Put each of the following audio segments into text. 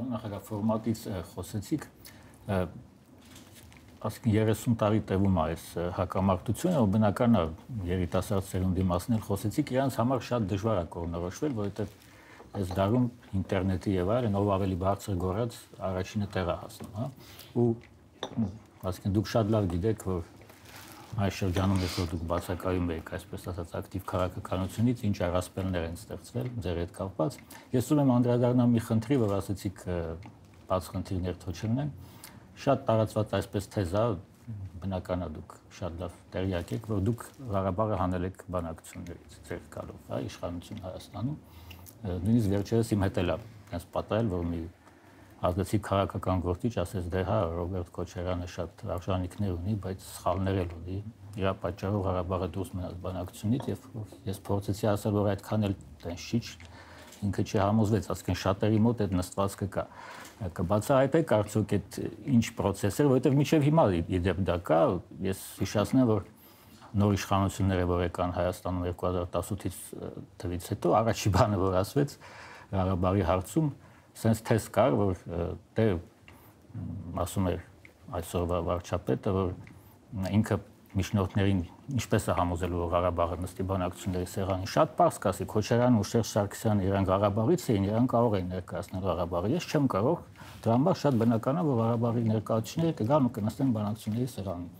Պարոն նախագահ, ֆորմատից խոսեցիք, ասկին 30 տարի տևում է այս հակամարտությունը, ու բնական է երիտասարդ սերունդի մասին խոսեցիք, իրանց համար շատ դժվար է կողմնորոշվել, որովհետև այս դարում ինտերնետի եւ այլն ով ավելի բարձր գոռաց առաջինը տեղ է հասնում, հա։ Ու ասկին դուք շատ լավ գիտեք, որ այս շրջանում ես որ դուք բացակայում եք, այսպես ասած, ակտիվ քաղաքականությունից, ինչ առասպելներ են ստեղծվել ձեր հետ կապված։ Ես ուզում եմ անդրադառնալ մի խնդրի, որ ասացիք բաց խնդիրներ թող չլինեն։ Շատ տարածված այսպես թեզա, բնական է դուք շատ լավ տեղյակ եք, որ դուք Ղարաբաղը հանել եք բանակցություններից ձեր գալով, հա, իշխանություն Հայաստանում։ Նույնիսկ վերջերս իմ հետ էլ է պատահել, որ մի ազգացիկ քաղաքական գործիչ ասեց, դե հա, Ռոբերտ Քոչարյանը շատ արժանինքներ ունի, բայց սխալներ էլ ունի։ Իրա պատճառով Ղարաբաղը դուրս մնաց բանակցությունից, եւ ես փորձեցի ասել, որ այդքան էլ տենց չի, ինքը չհամոզվեց, ասկին շատերի մոտ այդ նստվածքը կա։ Կբացահայտեք արդյոք այդ ինչ պրոցեսներ, որովհետև մինչև հիմա իդեպ դա կա, ես հիշեցնեմ, որ նոր իշխանությունները, որ եկան Հայաստանում 2018 թվականից հետո, առաջի բանը, որ ասվեց Ղարաբաղի հարցում, sense թեզ կար, որ դե ասում էր այսօրվա վարչապետը, որ ինքը միջնորդներին ինչպես է համոզել, որ Ղարաբաղը նստի բանակցությունների սեղանին, շատ պարզ կասի, Քոչարյանն ու Շերժ Սարգսյանը իրենք Ղարաբաղից էին, իրենք կարող են ներկայացնել Ղարաբաղը, ես չեմ կարող, դրա համար շատ բնական է, որ Ղարաբաղի ներկայացուցիչները կգան ու կնստեն բանակցությունների սեղանին։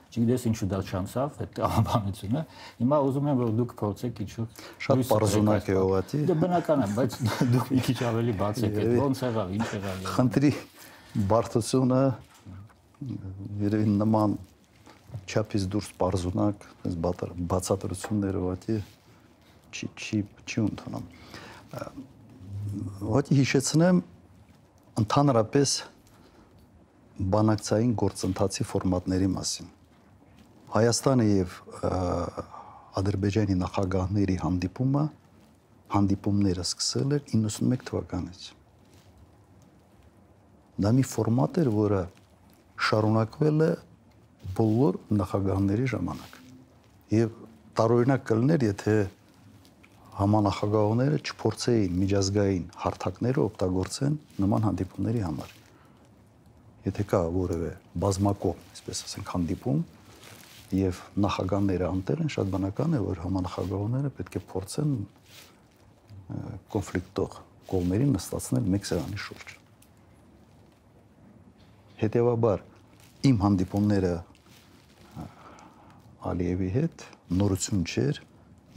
Չգիտես ինչու դա չանցավ, այդ տրամաբանությունը։ Հիմա ուզում եմ, որ դուք փորձեք ինչ-որ շատ պարզունակ է ուղղակի։ Դա բնական է, բայց դուք մի քիչ ավելի բացեք, ոնց եղավ, ինչ եղավ։ Խնդրի բարդությունը երևի նման չափից դուրս պարզունակ, այս բացատրությունները ուղղակի չի ընդունում։ Ուղղակի հիշեցնեմ ընդհանրապես բանակցային գործընթացի ֆորմատների մասին։ Հայաստանը եւ Ադրբեջանի նախագահների հանդիպումները սկսել էր 91 թվականից։ Դա մի ֆորմատ էր, որը շարունակվել է բոլոր նախագահների ժամանակ։ Եվ տարօրինակ կլիներ, եթե համանախագահողները չփորձեին միջազգային հարթակները օգտագործեն նման հանդիպումների համար։ Եթե կա որևէ բազմակողմ, այսպես ասենք, հանդիպում եւ նախագահները անտեղ են, շատ բնական է, որ համանախագահողները պետք է փորձեն կոնֆլիկտող կողմերին նստացնել մեկ սեղանի շուրջ։ Հետևաբար իմ հանդիպումները Ալիևի հետ նորություն չէր,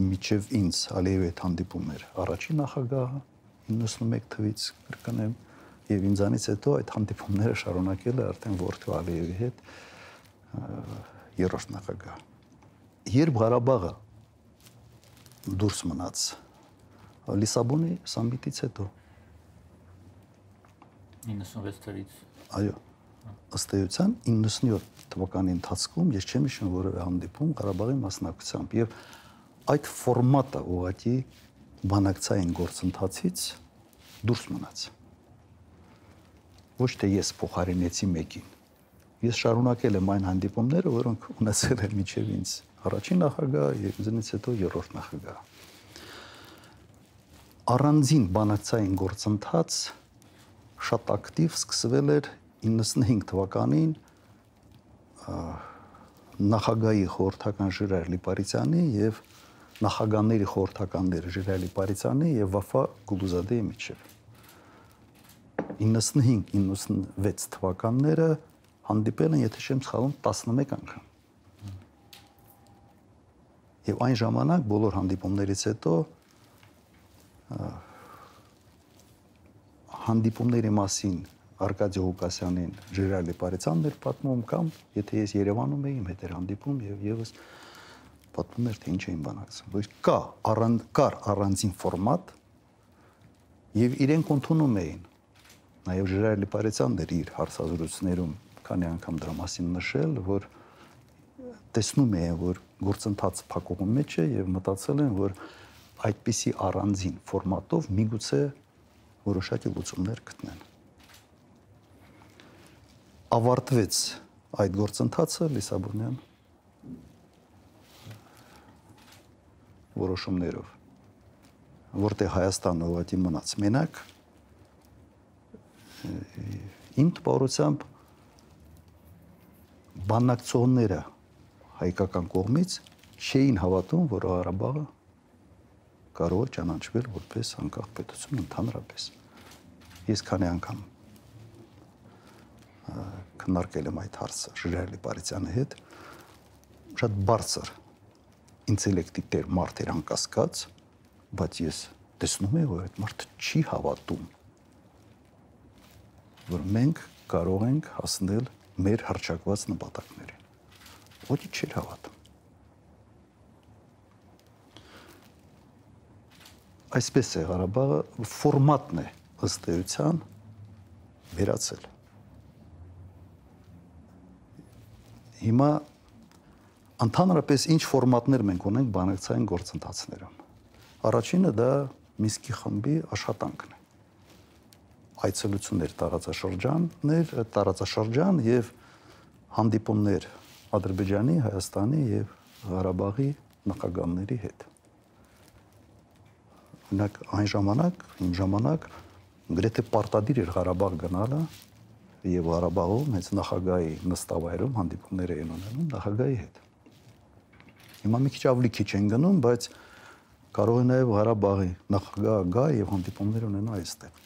միջև ինձ Ալիևի հետ հանդիպում էր առաջին նախագահը 91 թվականից կրկնեմ, եւ ինձանից հետո այդ հանդիպումները շարունակել է արդեն որդու Ալիևի հետ երրորդ նախագահ։ Երբ Ղարաբաղը դուրս մնաց Լիսաբոնի սամիտից հետո 96 թվականից։ Այո, ըստ էության 97 թվականի ընթացքում ես չեմ հիշում որևէ հանդիպում Ղարաբաղի մասնակցությամբ եւ այդ ֆորմատը ուղղակի բանակցային գործընթացից դուրս մնաց։ Ոչ թե ես փոխարինեցի մեկին։ Ես շարունակել եմ այն հանդիպումները, որոնք ունեցել եմ միջև ինձ առաջին նախագահ եւ ինձնից հետո երրորդ նախագահ։ Առանձին բանակցային գործընթաց շատ ակտիվ սկսվել էր 95 թվականին նախագահի խորհրդական Ժիրայր Լիպարիսյանի եւ նախագահների խորհրդականների Ժիրայր Լիպարիսյանի եւ Վաֆա Գուլուզադեի միջև 95-96 թվականները հանդիպել են, եթե չեմ սխալվում, 11 անգամ։ Եվ այն ժամանակ բոլոր հանդիպումներից հետո հանդիպումների մասին Արկադի Ղուկասյանին Ժիրայր Լիպարիսյանն էր պատմում, կամ եթե ես Երևանում էի, իմ հետ էր հանդիպում եւ եւս պատմում էր, թե ինչ էին բանակցում։ Որ կար առանձին ֆորմատ եւ իրենք ընդունում էին։ Նաեւ Ժիրայր Լիպարիսյանն էր իր հարցազրույցներում քանի անգամ դրա մասին նշել, որ տեսնում էին, որ գործընթաց փակողի մեջ է եւ մտածել են, որ այդպիսի առանձին ֆորմատով միգուցե որոշակի լուծումներ գտնեն։ Ավարտվեց այդ գործընթացը Լիսաբոնյան որոշումներով, որտեղ Հայաստանը ուղղակի մնաց մենակ իմ տպավորությամբ բանակցողները հայկական կողմից չէին հավատում, որ Ղարաբաղը կարող է ճանաչվել որպես անկախ պետություն ընդհանրապես։ Ես քանի անգամ քննարկել եմ այդ հարցը Ժիրայր Լիպարյանի հետ, շատ բարձր ինտելեկտի տեր մարդ էր անկասկած, բայց ես տեսնում եմ, որ այդ մարդը չի հավատում, որ մենք կարող ենք հասնել մեր հռչակված նպատակներին։ Ոչինչ չէր հավատում։ Այսպես է Ղարաբաղը ֆորմատն է ըստ էության վերացել։ Հիմա ընդհանրապես ինչ ֆորմատներ մենք ունենք բանակցային գործընթացներում։ Առաջինը դա Մինսկի խմբի աշխատանքն է։ Այցելություններ տարածաշրջան եւ հանդիպումներ Ադրբեջանի, Հայաստանի եւ Ղարաբաղի նախագահների հետ։ Օրինակ այն ժամանակ գրեթե պարտադիր էր Ղարաբաղ գնալը եւ Ղարաբաղում հենց նախագահի նստավայրում հանդիպումներ էին ունենում նախագահի հետ։ Հիմա մի քիչ ավելի քիչ են գնում, բայց կարող է նաեւ Ղարաբաղի նախագահը գա եւ հանդիպումներ ունենա այստեղ։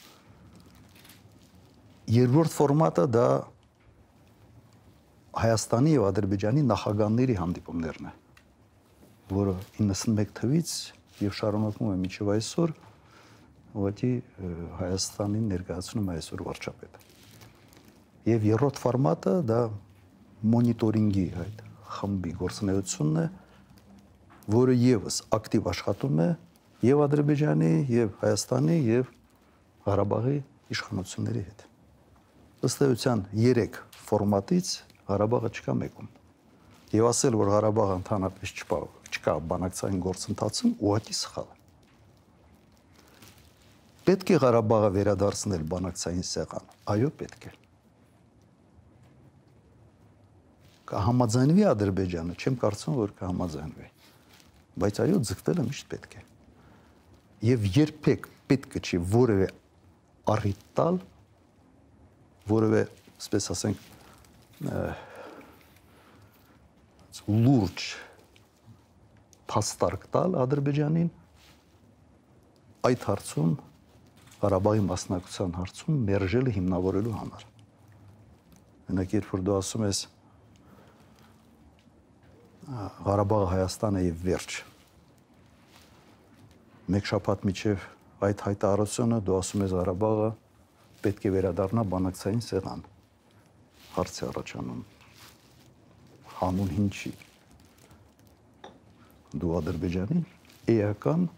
Երկրորդ ֆորմատը դա Հայաստանի եւ Ադրբեջանի նախագահների հանդիպումներն է, որը 91 թվականից եւ շարունակվում է մինչեւ այսօր, ուղղակի Հայաստանին ներկայացնում է այսօր վարչապետը։ Եվ երրորդ ֆորմատը դա մոնիտորինգի այդ խմբի գործունեությունն է, որը եւս ակտիվ աշխատում է եւ Ադրբեջանի, եւ Հայաստանի, եւ Ղարաբաղի իշխանությունների հետ։ Ըստ էության 3 ֆորմատից Ղարաբաղը չկա մեկում։ Եվ ասել, որ Ղարաբաղը ընդհանրապես չկա բանակցային գործընթացում, ուղղակի սխալ է։ Պետք է Ղարաբաղը վերադարձնել բանակցային սեղան։ Այո, պետք է։ Կհամաձայնվի Ադրբեջանը, չեմ կարծում, որ կհամաձայնվի։ Բայց այո, ձգտելը միշտ պետք է։ Եվ երբեք պետք չի որևէ առիթ տալ, որևէ, ասես ասենք, լուրջ փաստարկ տալ Ադրբեջանին այդ հարցում Ղարաբաղի մասնակցության հարցում մերժելը հիմնավորելու համար։ Օրինակ, երբ որ դու ասում ես Ղարաբաղը Հայաստանը եւ վերջ։ Մեկ շաբաթ միջև այդ հայտարարությունը դու ասում ես Ղարաբաղը պետք է վերադառնա բանակցային սեղան։ Հարց է առաջանում հանուն ինչի։ Դու Ադրբեջանին էական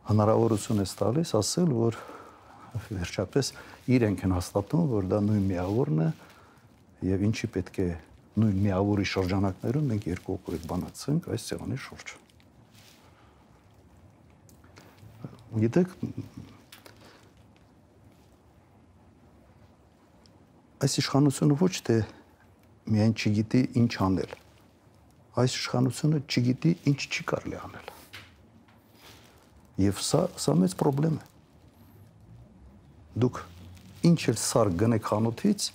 հնարավորություն ես տալիս ասել, որ վերջապես իրենք են հաստատում, որ դա նույն միավորն է եւ ինչի պետք է նույն միավորի շրջանակներում մենք երկու օգուտ բանակցենք այս սեղանի շուրջ։ Գիտեք, այս իշխանությունը ոչ թե միայն չգիտի ինչ անել, այս իշխանությունը չգիտի ինչ չի կարելի անել։ Եվ սա մեծ պրոբլեմ է։ Դուք ինչ էլ սար գնեք խանութից,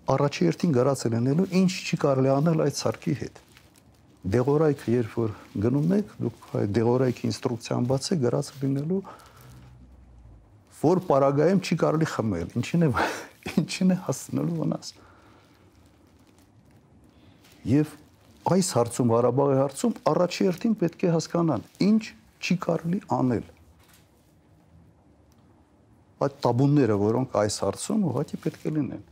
առաջի երթին գրած լինելու ինչ չի կարելի անել այդ սարքի հետ։ Դեղորայքը երբ որ գնում եք, դուք այդ դեղորայքի ինստրուկցիան բացեք, գրած լինելու, որ պարագայում չի կարելի խմել, ինչին է հասցնելու վնաս։ Եվ այս հարցում, Ղարաբաղի հարցում, առաջի երթին պետք է հասկանան, ինչ չի կարելի անել։ Այդ տաբուները, որոնք այս հարցում ուղղակի պետք է լինեն,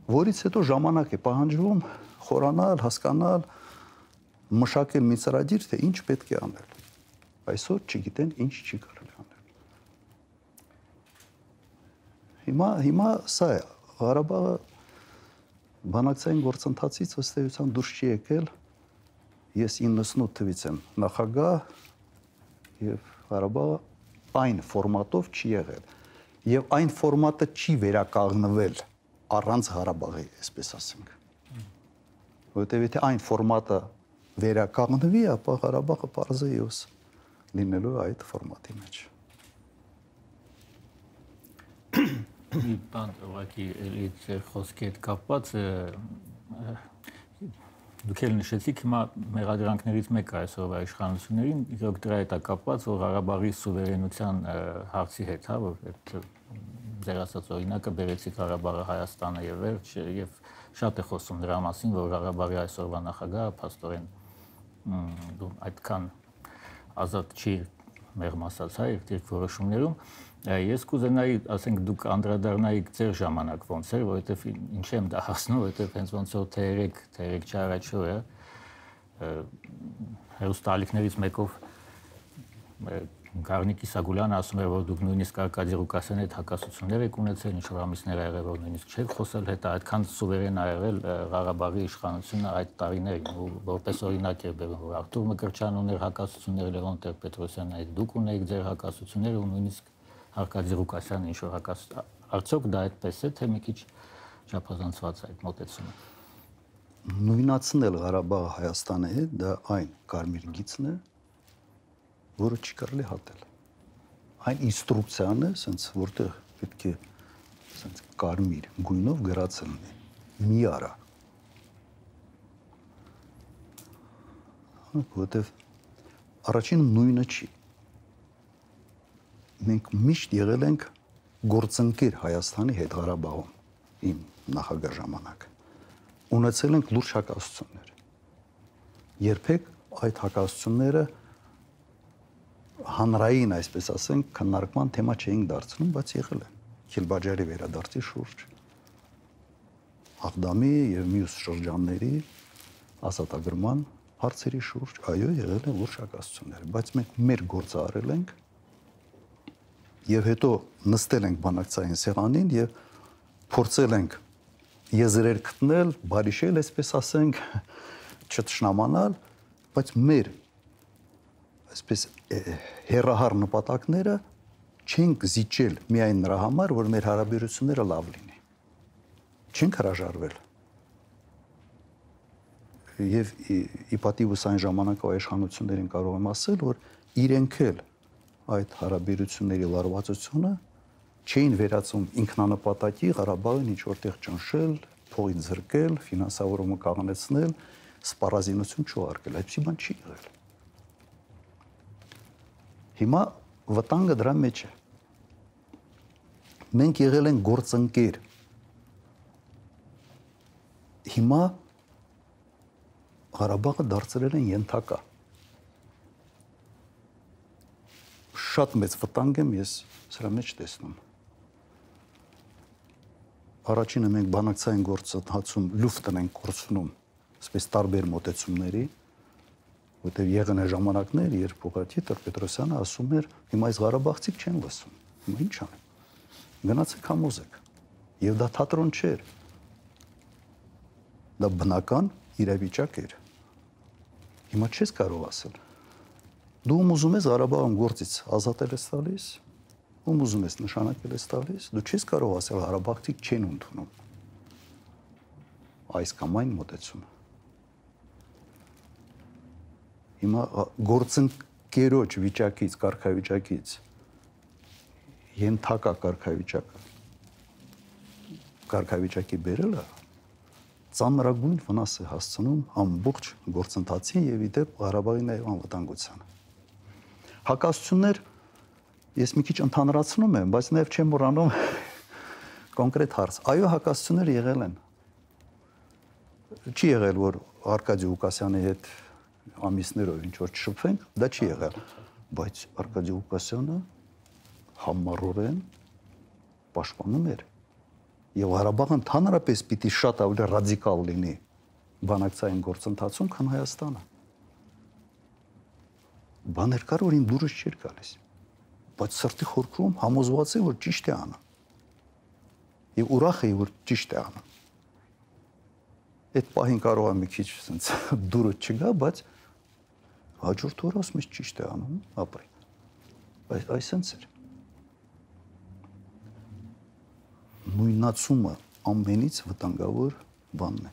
որից հետո ժամանակ է պահանջվում խորանալ, հասկանալ, մշակել մի ծրագիր, թե ինչ պետք է անել։ Այսօր չգիտեն ինչ չի կարելի անել։ Հիմա սա է, Ղարաբաղը բանակցային գործընթացից ըստ էության դուրս չի եկել, ես 98 թվականից եմ նախագահ եւ Ղարաբաղը այն ֆորմատով չի եղել եւ այն ֆորմատը չի վերականգնվել առանց Ղարաբաղի, այսպես ասենք։ Որտեւ եթե այն ֆորմատը վերականգնվի, ապա Ղարաբաղը պարզը եւս լինելու այդ ֆորմատի մեջ։ մի բան ուղղակի էլի ձեր խոսքի հետ կապված դուք էլ նշեցիք հիմա մեղադրանքներից մեկը այսօրվա իշխանություններին իրոք դրա հետ է կապված որ Ղարաբաղի սուվերենության հարցի հետ, հա, որ այդ ձեր ասած օրինակը բերեցիք Ղարաբաղը Հայաստանը եւ վերջ եւ շատ է խոսում դրա մասին որ Ղարաբաղի այսօրվա նախագահը փաստորեն այդքան ազատ չի մեղմ ասած, հա, իր որոշումներում ես կուզենայի, ասենք դուք անդրադառնայիք ձեր ժամանակ ոնց էր, որովհետև ինչ եմ դա հասնում, որովհետև հենց ոնց որ թե 3 չարաչու է հերոստալիքներից մեկով Գառնիկ Իսագուլյանը ասում էր, որ դուք նույնիսկ Արկադի Ղուկասյանի հետ հակասություններ եք ունեցել, ինչ որ ամիսներ ա եղել, որ նույնիսկ չեք խոսել հետ, այդքան սուվերեն ա եղել Ղարաբաղի իշխանությունը այդ տարիներին, ու որպես օրինակ է բերում, որ Արտուր Մկրտչյանն ուներ հակասություններ, Լևոն Տեր-Պետրոսյանն այդ դուք ունեիք ձեր հակասությունները ու նույնիսկ Արկադի Ղուկասյանը ինչ որ հակասություն, արդյոք դա այդպես է, թե մի քիչ չափազանցված է այդ մոտեցումը։ Նույնացնել Ղարաբաղը Հայաստանի հետ դա այն կարմիր գիծն է, որը չի կարելի հատել։ Այն ինստրուկցիան է, ասենց որտեղ պետք է ասենց կարմիր գույնով գրած լինի։ Մի արա։ Որտեղ առաջինը նույնը չի։ Մենք միշտ եղել ենք գործընկեր Հայաստանի հետ Ղարաբաղում, իմ նախագահ ժամանակ։ Ունեցել ենք լուրջ հակասություններ։ Երբեք այդ հակասությունները հանրային, այսպես ասենք, քննարկման թեմա չէինք դարձնում, բայց եղել են Քիլբաջարի վերադարձի շուրջ, Աղդամի եւ մյուս շրջանների ազատագրման հարցերի շուրջ, այո, եղել են լուրջ հակասություններ, բայց մենք մեր գործը արել ենք եւ հետո նստել ենք բանակցային սեղանին եւ փորձել ենք եզրեր գտնել, բարիշել, այսպես ասենք, չտշնամանալ, բայց մեր այսպես հերահար նպատակները չենք զիջել միայն նրա համար, որ մեր հարաբերությունները լավ լինի։ Չենք հրաժարվել։ Եվ ի պատիվս այն ժամանակվա իշխանություններին կարող եմ ասել, որ իրենք էլ այդ հարաբերությունների լարվածությունը չէին վերածում ինքնանպատակի Ղարաբաղին ինչ որտեղ ճնշել, փողի ձրկել, ֆինանսավորումը կանգնեցնել, սպառազինություն չուղարկել, այդպիսի բան չի եղել։ Հիմա վտանգը դրա մեջ է։ Մենք եղել ենք գործընկեր։ Հիմա Ղարաբաղը դարձրել են ենթակա։ Շատ մեծ վտանգ եմ ես սրա մեջ տեսնում։ Առաջինը մենք բանակցային գործընթացում լուֆտն ենք կորցնում, այսպես տարբեր մոտեցումների, որտեղ եղան է ժամանակներ, երբ ուղղակի Տեր-Պետրոսյանը ասում էր, հիմա այս Ղարաբաղցիք չեն լսում, հիմա ինչ անեմ, գնացեք համոզեք, եւ դա թատրոն չէր, դա բնական իրավիճակ էր, հիմա չես կարող ասել, դու ուզում ես Ղարաբաղում գործից ազատել ես տալիս, ուզում ես նշանակել ես տալիս, դու չես կարող ասել Ղարաբաղցիք չեն ընդունում այս կամ այն մոտեցումը։ Հիմա գործընկերոջ վիճակից, կարգավիճակից ենթակա կարգավիճակի բերելը ծանրագույն վնաս է հասցնում ամբողջ գործընթացին եւ իդեպ Ղարաբաղի նաեւ անվտանգությանը։ Հակասություններ ես մի քիչ ընդհանրացնում եմ, բայց նաեւ չեմ մոռանում կոնկրետ հարց։ Այո, հակասություններ եղել են։ Չի եղել, որ Արկադի Ղուկասյանի հետ ամիսներով ինչ որ չշփվենք, դա չի եղել, բայց Արկադի Ղուկասյանը համառորեն պաշտպանում էր եւ Ղարաբաղը ընդհանրապես պիտի շատ ավելի ռադիկալ լինի բանակցային գործընթացում, քան Հայաստանը։ Բաներ կար, որ իմ դուրս չէր գալիս, բայց սրտի խորքում համոզված եմ, որ ճիշտ է անում։ Եվ ուրախ եմ, որ ճիշտ է անում։ Այդ պահին կարող է մի քիչ sense դուրս չգա, բայց հաջորդ օրը ասում ես ճիշտ է անում, ապրի։ Բայց այսպես էր։ Նույնացումը ամենից վտանգավոր բանն է։